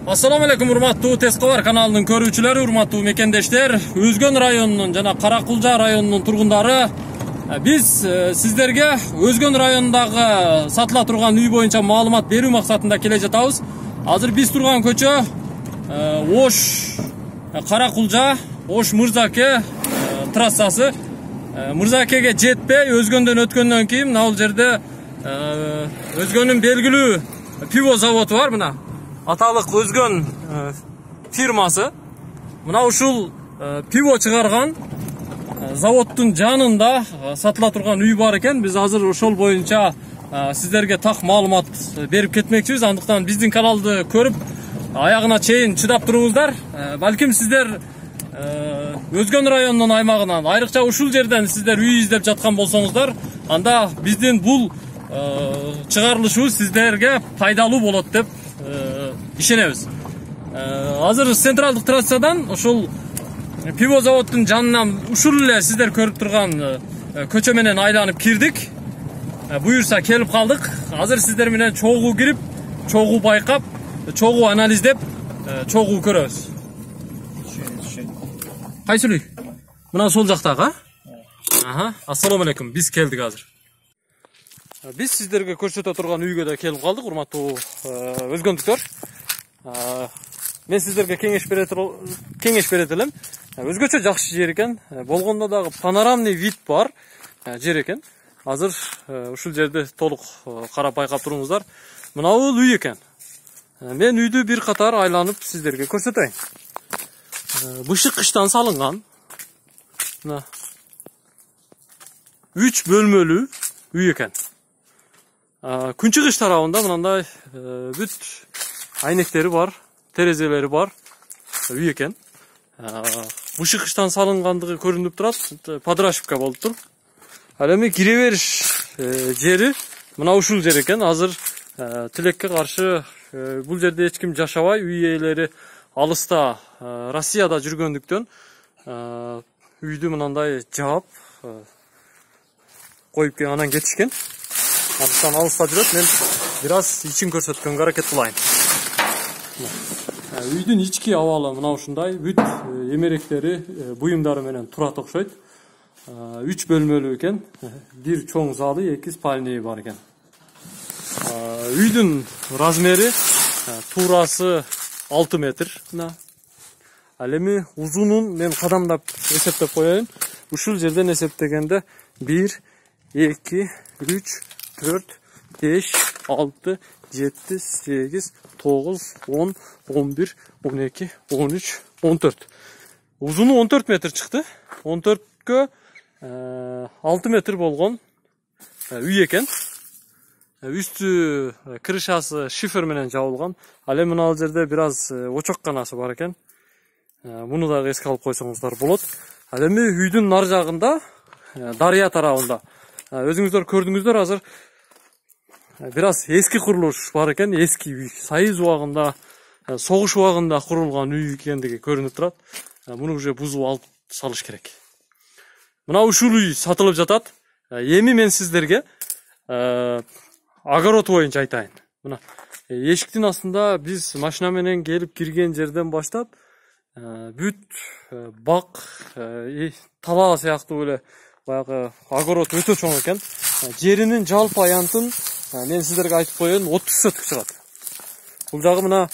Assalamu alaikum урматтуу Тескобар каналынын көрүүчүлөрү, урматтуу мекендештер, Өзгөн районунун жана Каракулжа районунун тургундары, биз сиздерге Өзгөн районундагы сатыла турган үй боюнча маалымат берүү максатында келе жатабыз. Азыр биз турган көчө Ош Каракулжа, Ош Мырзаке трассасы. Мырзакеге жетпей Өзгөндөн өткөндөн кийин мына бул жерде Өзгөнүн белгилүү пиво заводу бар. Мына аталык Өзгөн фирмасы. Мына ушул пиво чыгарган заводдун жанында сатыла турган үй бар экен. Биз азыр ошол боюнча сиздерге так маалымат берип кетмекчибиз. Андыктан биздин каналды көрүп аягына чейин чыдап туруңуздар. Балким сиздер Өзгөн районунун аймагынан, айрыкча ушул жерден сиздер үй издеп жаткан болсоңуздар, анда биздин бул чыгарылышыбыз сиздерге пайдалуу болот деп ишенебиз. Азыр централдык трассадан ошол пиво заводдун жанынан ушул эле сиздер көрүп турган көчө менен айланып кирдик. Буюрса келип калдык. Азыр сиздер менен чогуу кирип, чогуу байкап, чогуу анализдеп, чогуу көрөбүз. Кайсы үй? Мына сол жактагы, Ассаламу алейкум. Биз келдик азыр. Биз сиздерге көрсөтө турган үйгө да келип калдык, урматтуу өзгөндүктөр. Мен сиздерге кеңеш берет элем. Өзгөчө жакшы жер экен. Болгондо дагы панорамный вид бар жер экен. Азыр ушул жерди толук карап байкап туруңуздар. Мына бул үй экен. Мен үйдү бир катар айланып сиздерге көрсөтөйүн. Бышык кыштан салынган. Мына 3 бөлмөлүү үй экен. Күнчыгыш тарабында мындай бүт айнектери бар, терезелери бар үй экен. Бышык кыштан салынгандыгы көрүнүп турат, подрашивка болуп тур. Ал эми кире бериш жери мына ушул жер экен. Азыр тилекке каршы бул жерде эч ким жашабай, үй ээлери алыста Россияда жүргөндүктөн үйдү мындай жаап коюп анан кетишкен. Андыктан алыста жүрөт. Мен бир аз ичин көрсөткөнгө аракет кылайын. Үйдүн ички абалы мына ушундай, бүт эмеректери, буюмдары менен турат окшойт. 3 бөлмөлүү экен. Бир чоң залы, 2 спальня бар экен. Үйдүн размери туурасы 6 метр. Ал эми узунун мен кадамдап эсептеп коеюн. Ушул жерден эсептегенде 1, 2, 3, 4, 5, 6, 7, 8, 9, 10, 11, 12, 13, 14. Узуну 14 метр чыкты. 14кө 6 метр болгон үй экен. Үстү крышасы шифер менен жабылган. Ал эми мына жерде бир аз очокканасы бар экен. Муну дагы эске алып койсоңуздар болот. Ал эми үйдүн нар жагында, дарыя тарабында өзүңүздөр көрдүңүздөр, азыр бир аз эски курулуш бар экен. Эски үй, союз убагында, согуш убагында курулган үй экендиги көрүнүп турат. Муну уже бузуп алып салыш керек. Мына ушул үй сатылып жатат. Эми мен сиздерге огород боюнча айтайын. Мына эшиктин астында биз машина менен келип кирген жерден баштап бүт бак, талаа сыяктуу эле баягы огород өтө чоң экен. Жеринин жалпы аянтын мен сиздерге айтып коеюн, 30 соток чыгат. Бул жагы мына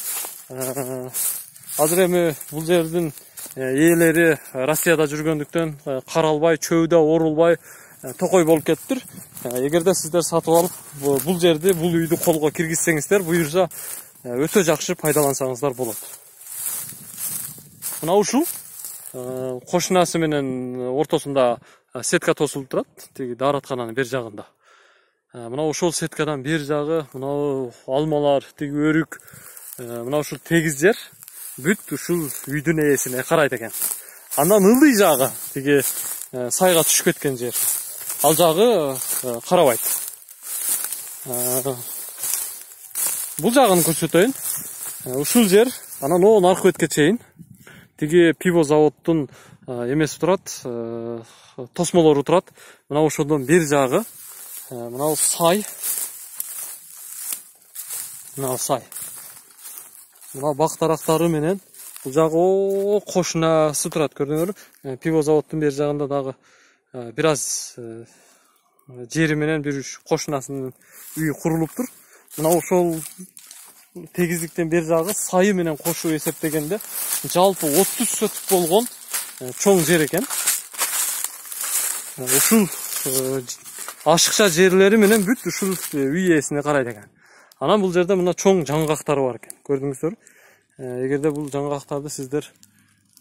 азыр эми бул жердин ээлери Россияда жүргөндүктөн каралбай, чөйдө орулбай, токой болуп кетиптир. Эгерде сиздер сатып алып бул жерди, бул үйдү колго киргизсеңиздер, буюрса өтө жакшы пайдалансаңыздар болот. Мына ушул кошунасы менен ортосунда сетка тосулуп турат, тиги даараткананын бер жагында. Мына ошол сеткадан бер жагы, мына алмалар, тиги өрүк, мына ушул тегиз жер бүт ушул үйдүн ээсине карайт экен. Андан ылдый жагы, тиги сайга түшүп кеткен жер, ал жагы карабайт. Бул жагын көрсөтөйүн. Ушул жер анан аркы бетке чейин тиги пиво заводдун эмеси турат, тосмолору турат. Мына ошондон бер жагы, мына сай. Мына сай. мына бак дарактары менен бул жагы кошунасы турат, көрдүңөрбү? Пиво заводдун бер жагында дагы бир аз жери менен бир кошунасынын үйү курулуптур. Мына ошол тегиздиктен бер жагы сайы менен кошуп эсептегенде жалпы 30 сотук болгон чоң жер экен. Ушул ашыкча жерлери менен бүт ушул үй ээсине карайт экен. Анан бул жерде мына чоң жаңгактары бар экен, көрдүңүздөрбү? Эгерде бул жаңгактарды сиздер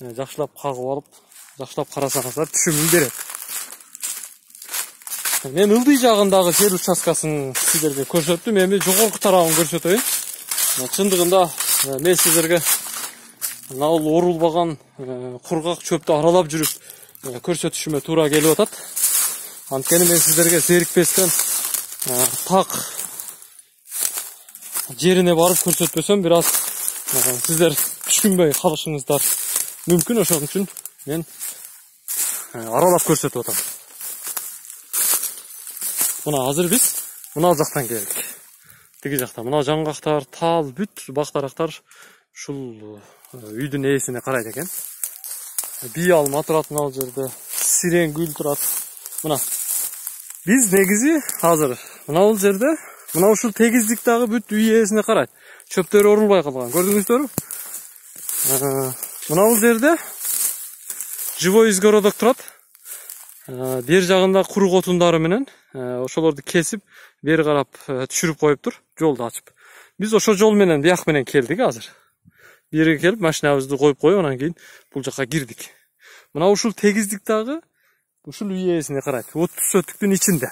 жакшылап кагып алып, жакшылап карасаңыздар түшүмүн берет. Мен ылдый жагындагы жер участкасын сиздерге көрсөттүм, эми жогорку тарабын көрсөтөйүн. Чындыгында мен сиздерге мына орулбаган кургак чөптү аралап жүрүп көрсөтүшүмө туура келип атат. Анткени мен сиздерге зерикпестен так жерине барып көрсөтпөсөм, бир аз сиздер түшүнбөй калышыңыздар мүмкүн. Ошон үчүн мен аралап көрсөтүп атам. Мына азыр биз мына жактан келдик. Тиги жакта мына жаңгактар, тал, бүт бак дарактар ушул үйдүн ээсине карайт экен. Бий алма турат мына жерде, сирен гүл турат. Мына биз негизи азыр мына бул жерде мына ушул тегиздиктагы бүт үй ээсине карайт. Чөптөр орулбай калган, көрдүңүздөрбү? Мына бул жерде живой изгородок турат. Бер жагында курук отундары менен ошолорду кесип, бери карап түшүрүп коюптур, жолду ачып. Биз ошол жол менен бияк менен келдик азыр. Бери келип машинабызды коюп коюп, анан кийин бул жакка кирдик. Мына ушул тегиздиктагы ушул үй ээсине карайт. 30 сотуктун ичинде.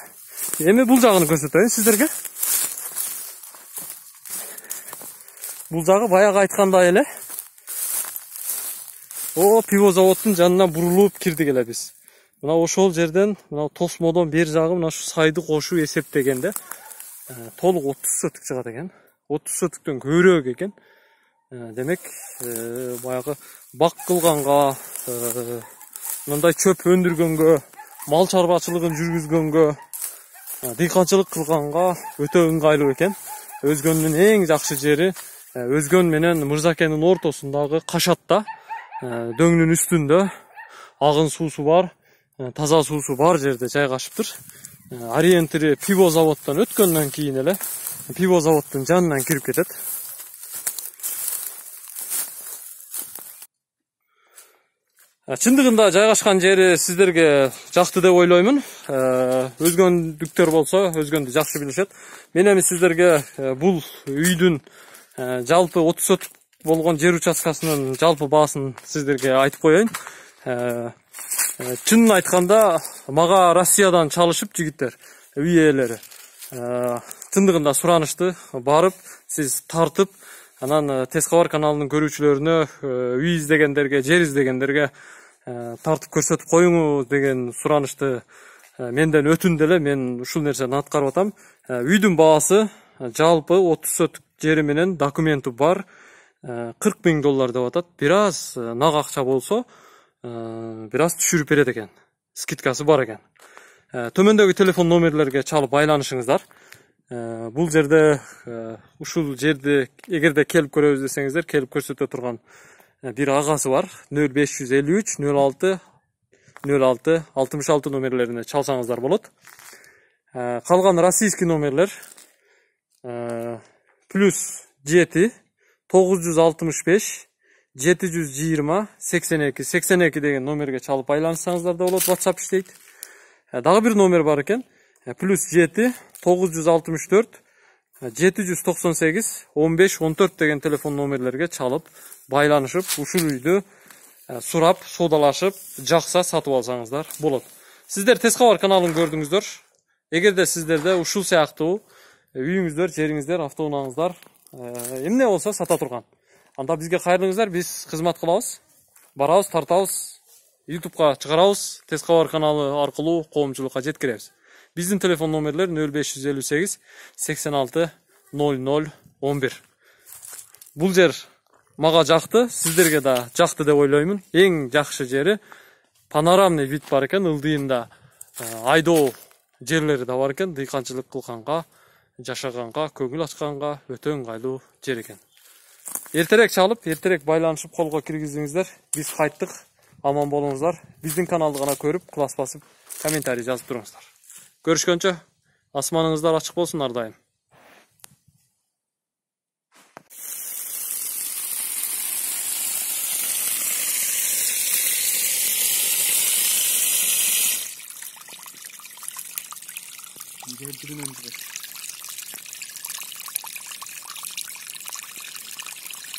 Эми бул жагын көрсөтөйүн сиздерге. Бул жагы баягы айткандай эле. Пиво заводдун жанына бурулуп кирдик эле биз. Мына ошол жерден, мына тосмодон бер жагы мына ушу сайды кошуп эсептегенде толук 30 сотук чыгат экен. 30 сотуктон көбүрөөк экен. Демек, баягы бак кылганга, мындай чөп өндүргөнгө, мал чарбачылыгын жүргүзгөнгө, дыйканчылык кылганга өтө ыңгайлуу экен. Өзгөндүн эң жакшы жери Өзгөн менен Мырзакенин ортосундагы кашатта, дөңнүн үстүндө агын суусу бар, таза суусу бар жерде жайгашыптыр. Ориентири пиво заводдон өткөндөн кийин эле пиво заводдун жанынан кирип кетет. Чындыгында жайгашкан жери сиздерге жакты деп ойлоймун. Өзгөндүктөр болсо өзгөндү жакшы билишет. Мен эми сиздерге бул үйдүн жалпы 30 сотук болгон жер участкасынын жалпы баасын сиздерге айтып коеюн. Чынын айтканда мага Россиядан чалышып жигиттер, үй ээлери. Чындыгында суранышты барып, сиз тартып, анан Тез кабар каналынын көрүүчүлөрүнө, үй издегендерге, жер издегендерге тартып көрсөтүп коюңуз деген суранышты менден өтүндү эле. Мен ушул нерсени аткарып атам. Үйдүн баасы жалпы 30 сотук жери менен документи бар $40,000 деп атат. Бир аз нак акча болсо, бир аз түшүрүп берет экен. Скидкасы бар экен. Төмөндөгү телефон номерлерге чалып байланышыңыздар. Бул жерде ушул жерди эгерде келип көрөбүз десеңиздер, келип көрсөтө турган бир агасы бар. 0553 06 06 66 номерлерине чалсаңыздар болот. Калган российский номерлер +7 965 720 82 82 деген номерге чалып байланышсаңыздар да болот. WhatsApp иштейт. Дагы бир номер бар экен. +7 964 798 15 14 деген телефон номерлерге чалып байланышып, ушул үйдү сурап, соодалашып, жакса сатып алсаңыздар болот. Сиздер Тез кабар каналын көрдүңүздөр. Эгерде сиздерде ушул сыяктуу үйүңүздөр, жериңиздер, автоунааңыздар эмне болсо сата турган, анда бизге кайрылыңыздар, биз кызмат кылабыз. Барабыз, тартабыз, YouTube'га чыгарабыз, Тез кабар каналы аркылуу коомчулукка жеткиребиз. Биздин телефон номерлер 0558 86 00 11. Бул жер мага жакты, сиздерге да жакты деп ойлоймун. Эң жакшы жери панорамный вид бар экен, ылдыйында айдоо жерлери да бар экен, дыйканчылык кылганга, жашаганга, көңүл ачканга өтө ыңгайлуу жер экен. Эртерээк чалып, эртерээк байланышып колго киргиздиңиздер. Биз кайттык. Аман болуңуздар. Биздин каналды гана көрүп, класс басып, комментарий жазып туруңуздар. Көрүшкөнчө, асманыңыздар ачык болсун ар дайым. Geldirin önce.